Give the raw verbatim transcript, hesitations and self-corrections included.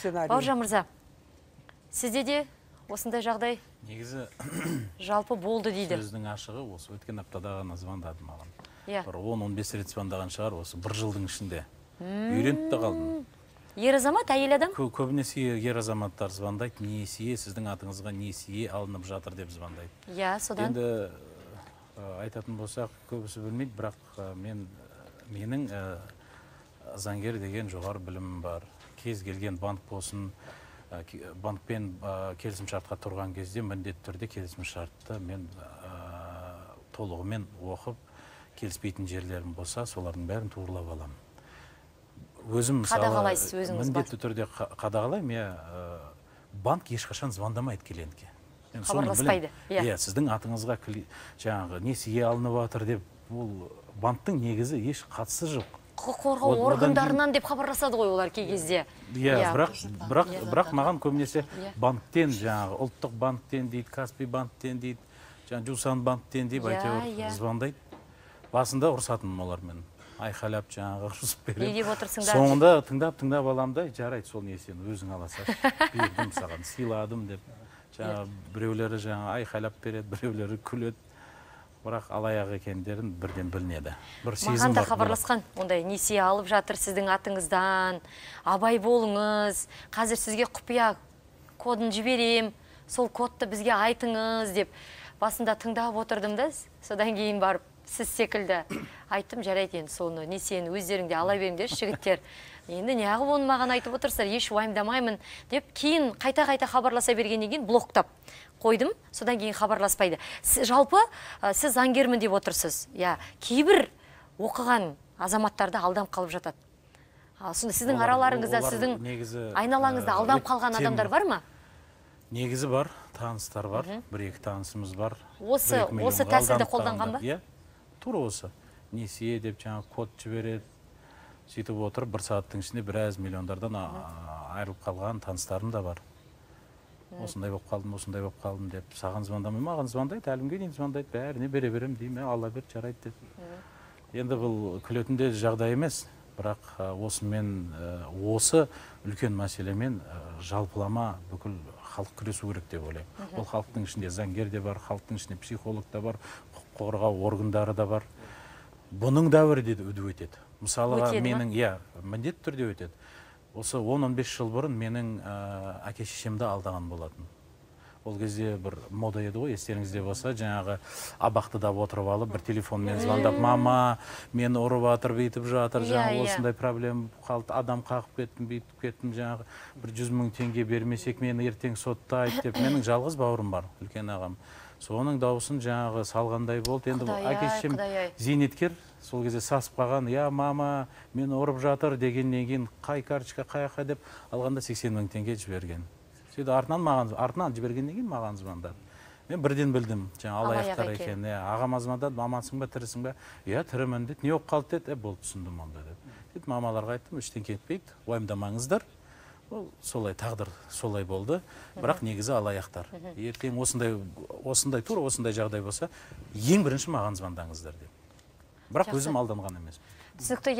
сценарий. Бауыржан мырза, сізде де осындай жағдай негізі жалпы болды дейді. Сөздің ашығы осы өткен аптада ғана звондады маған. Иә. Бір он он бес рет звондаған шығар, осы бір жылдың ішінде. Үйреніп те қалдым. Ер азамат, әйел адам? Көбінесе ер азаматтар звондайды, несие, сіздің атыңызға несие алынып жатыр деп звондайды. Иә, содан. Енді айтатын болсақ, көбісі білмейді, бірақ мен менің заңгер деген жоғары білімім бар. Кез келген банк болсын, банкпен келісім шартқа тұрған кезде міндетті түрде келісім шартты мен толығымен оқып, келіспейтін жерлерім болса, солардың бәрін туырлап аламын. Өзім қадағалайсыз өзіңіз бар. Міндетті түрде қадағалаймын, я банк ешқашан звондамайды клиентке. Хабарласпайды. Иә, сіздің атыңызға жаңағы несие алынып жатыр деп, ол банктың негізі еш қатысы жоқ. Құқық қорғау органдарынан деп хабарласады ғой олар кей кезде. Иә, бірақ маған көбінесе банктен, жаңағы ұлттық банктен дейді, Каспий банктен дейді, жаңағы Жусан банктен дейді, әйтеуір звондайды. Басында ұрсатыным олармен. Айқайлап жаңағы ұрсып берем. Не деп отырсыңдар? Соңында тыңдап-тыңдап аламда, жарайды, сол несиені өзің аласың. Бердім саған, сыйладым деп. Жаңағы біреулері жаңағы айқайлап береді, біреулері күледі. Бірақ алаяқ екендерін бірден білінеді. Маған да хабарласқан, ондай несие алып жатыр сіздің атыңыздан, абай болыңыз, қазір сізге құпия кодын жіберем, сол кодты бізге айтыңыз деп. Басында тыңдап отырдым да, содан кейін барып сіз секілді айттым, жарайды енді соны несиені өздеріңде ала беріңдер, жігіттер. Енді неғып оны маған айтып отырсыздар, еш уайымдамаймын деп, кейін қайта-қайта хабарласа бергеннен кейін блоктап қойдым, содан кейін хабарласпайды. Жалпы сіз заңгермін деп отырсыз. Я, кейбір оқыған азаматтарды алданып қалып жатады. Сонда сіздің араларыңызда, сіздің айналаңызда алданып қалған адамдар бар ма? Негізі бар, таныстар бар, бір-екі танысымыз бар. Осы тәсілді қолданған ба? Иә, тура осы. Несие деп жаңа код жібереді. Сөйтіп отырып, бір сағаттың ішінде біраз миллиондардан айырылып қалған таныстарым да бар. Осындай болып қалдым, осындай болып қалдым деп, саған звондамай, маған звондайды, әлімге дейін звондайды, бәріне бере берем деймін, алла бер, жарайды деп. Енді бұл күлетінде жағдай емес, бірақ осымен, осы үлкен мәселемен жалпылама бүкіл халық күресу керек деп ойлаймын. Ол халықтың ішінде заңгер де бар, халықтың ішінде психолог да бар, құқық қорғау органдары да бар. Бұның дәуірі де өтеді. Мысалыға менің, иә, міндетті түрде өтеді. Осы он он бес жыл бұрын менің әке-шешемді алдаған болатын. Ол кезде бір мода еді ғой, естеріңізде болса, жаңағы абақтыда отырып алып, бір телефонмен звондап, мама, мені ұрып жатыр, бүйтіп жатыр, жаңағы осындай проблема қалды, адам қағып кеттім, бүйтіп кеттім, жаңағы бір жүз мың теңге бермесек, мені ертең соттайды деп, менің жалғыз бауырым бар, үлкен ағам. Соның дауысын жаңағы салғандай болды. Енді әке-шешем зейнеткер, сол кезде сасып қалған, я мама, мені ұрып жатыр дегеннен кейін қай карточка, қай аққа деп алғанда сексен мың теңге жіберген. Сөйді артынан маған, артынан жібергеннен кейін маған звондады. Мен бірден білдім, жаңа алаяқтар екен. Ағам звондады, мамансың ба, тірісің ба? Я, тірімін деді. Не болып қалды деді? Болды, түсіндім онда деді. Сөйтіп мамаларға айттым, ештеңе кетпейді, уайымдамаңыздар. Солай тағдыр солай болды, бірақ негізі алаяқтар. Ертең осындай, осындай тура осындай жағдай болса, ең бірінші маған звондаңыздар деп. Бірақ өзім алданған емес. Түсінікті.